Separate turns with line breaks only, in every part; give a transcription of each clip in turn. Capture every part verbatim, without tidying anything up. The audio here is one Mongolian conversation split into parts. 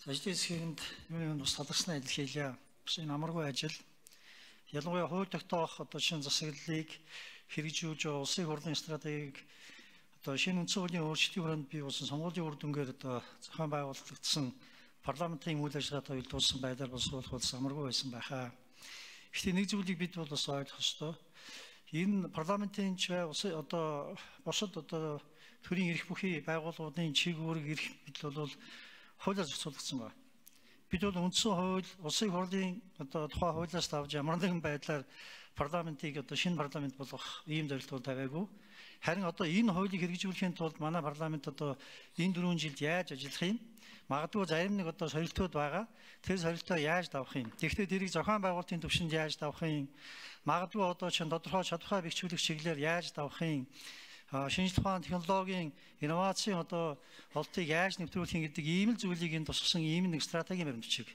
Ажлын хэсгэнд юуны бас талархсны адил хийлээ. Бас энэ амаргүй ажил. Ялангуяа хууль тогтоох одоо шинэ засаглалыг хэрэгжүүлж улсын хурлын стратегийг одоо шинэ үндсэн хуулийн өөрчлөлтийн хүрээнд бий болсон сонгуулийн үр дүнгээр одоо зохион байгуулагдсан парламентын үйл ажиллагаатай уялдуулсан байдлаар бас суулгах болсон амаргүй байсан байхаа. Гэхдээ нэг зүйлийг бид бол бас ойлгох ёстой. Энэ парламентын ч бай улсын одоо босод одоо төрийн эрх бүхий байгууллагуудын чиг үүрэг эрх мэдэл бол хуулиар зохицуулагдсан байна. Бид бол үндсэн хууль, улсын хурлын одоо тухай хуулиас авч ямар нэгэн байдлаар парламентыг одоо шинэ парламент болгох ийм зорилтууд тавиагүй. Харин одоо энэ хуулийг хэрэгжүүлэхийн тулд манай парламент одоо энэ дөрвөн жилд яаж ажиллах юм? Магадгүй зарим нэг одоо сорилтууд байгаа. Тэр сорилтоо яаж давах юм? Тэгэхдээ тэрийг зохион байгуулалтын түвшинд яаж давах юм? Магадгүй одоо чинь тодорхой чадвараа бэхжүүлэх чиглэлээр яаж давах юм? Шинжлэх ухааны технологийн инновацийн одоо олтыг яаж нэвтрүүлэх гэдэг ийм л зүйлийг энэ тусгасан ийм нэг стратегийн баримтчиг.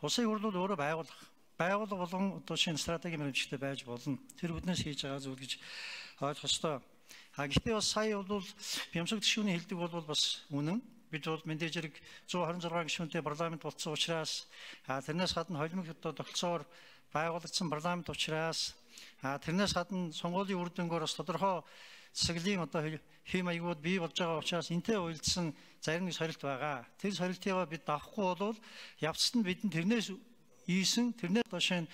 Улсын хурлууд өөрөө байгуулах, байгууллага болон одоо шинэ стратегийн баримтчигтай байж болно. Тэр бүднээс хийж байгаа зүйл гэж ойлгох ёстой. А гэхдээ бас сая бол бямшиг гишүүний хэлдэг бол бас үнэн. Бид бол мэдээж хэрэг зуун хорин зургаан гишүүнтэй парламент болсон учраас тэрнээс гадна холимог одоо тогтолцоогоор байгуулагдсан парламент учраас тэрнээс гадна сонгуулийн үр дүнгээр бас тодорхой засаглалын одоо хэм маягууд бий болж байгаа учраас энтэй уялдсан зарим нэг сорилт байгаа. Тэр сорилтыг бид давахгүй бол явцад нь бидэнд тэрнээс ийсэн тэрнээс одоо шинэ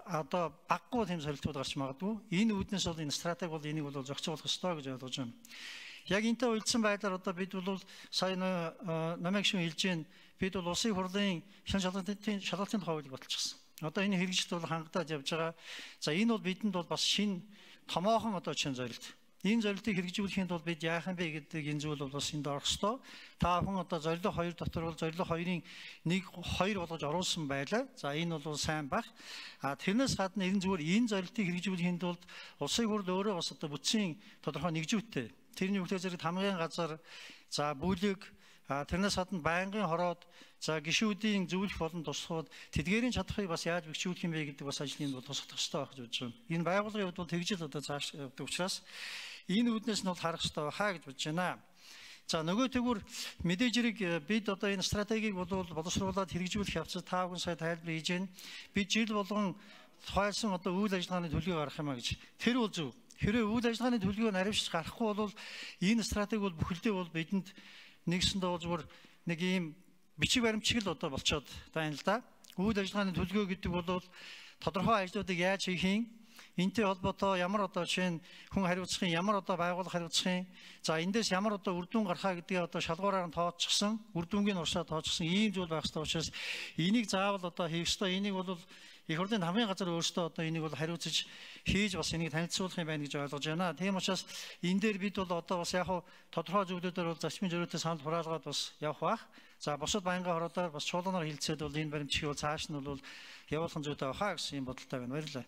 одоо баггүй тийм сорилтууд гарч магадгүй. Энэ үүднээс бол энэ стратеги бол энийг бол зохицуулах ёстой гэж ойлгож байна. Яг энтэй уялдсан байдлаар одоо бид бол сая намайг шүү хэлж гин бид бол улсын хурлын шинэ шалгалтын шалгалтын тухай хуулийг баталчихсан. Одоо энэ хэрэгжилт бол хангадаад явж байгаа. За энэ бол бидэнд бол бас шинэ томоохон одоо шинэ зорилт. Энэ зорилтыг хэрэгжүүлэхийн тулд бид яах юм бэ гэдэг энэ зүйл бол бас энд орох ёстой. Та бүхэн одоо зорилго хоёр дотор бол зорилго хоёрын нэг хоёр болгож оруулсан байлаа. За энэ бол сайн баг. А тэрнээс гадна энэ зүгээр энэ зорилтыг хэрэгжүүлэхийн тулд улсын хурл өөрөө бас одоо бүтцийн тодорхой нэгжүүттэй. Тэрний үгтэй зэрэг хамгийн газар за бүлэг тэрнээс гадна байнгын хороод за гишүүдийн зөвлөх болон туслахууд тэдгээрийн чадхыг бас яаж бэхжүүлэх юм бэ гэдэг бас ажлын бол тусах ёстой байх гэж бодож байна. Энэ байгууллагын хувьд бол тэгжил одоо цааш явдаг учраас энэ үүднээс нь бол харах ёстой хаа гэж бодож байна. За нөгөө тэгүр мэдээж хэрэг бид одоо энэ стратегийг бол боловсруулаад хэрэгжүүлэх явцад та бүхэн сая тайлбар хийж байна. Бид жил болгон тухайлсан одоо үйл ажиллагааны төлөвийг гаргах юм а гэж. Тэр бол зөв. Хэрэв үйл ажиллагааны төлөвийг наривч гаргахгүй бол энэ стратеги бол бүхэлдээ бол бидэнд нэгсэндээ бол зүгээр нэг ийм бичиг баримтчиг л одоо болцоод байна л да. Үйл ажиллагааны төлөвлөгөө гэдэг бол тодорхой ажлуудыг яаж хийх юм? Энтэй холбоотой ямар одоо жишээ нь хүн хариуцахын ямар одоо байгууллага хариуцахын за эндээс ямар одоо үр дүн гархаа гэдгийг одоо шалгуураар нь тооцчихсан үр дүнгийн уршаа тооцчихсан ийм зүйл байх ёстой учраас энийг заавал одоо хийх ёстой. Энийг бол их хурлын хамгийн газар өөрсдөө одоо энийг бол хариуцаж хийж бас энийг танилцуулах юм байна гэж ойлгож байна. Тийм учраас энэ дээр бид бол одоо бас яг тодорхой зүйлүүдээр бол зарчмын зөрүүтэй санал хураалгаад бас явах бах. За босод байнгын хороодоор бас чуулганаар хилцээд бол энэ баримтчиг бол цааш нь бол явуулах зүйтэй байхаа гэсэн юм бодолтой байна. Баярлалаа.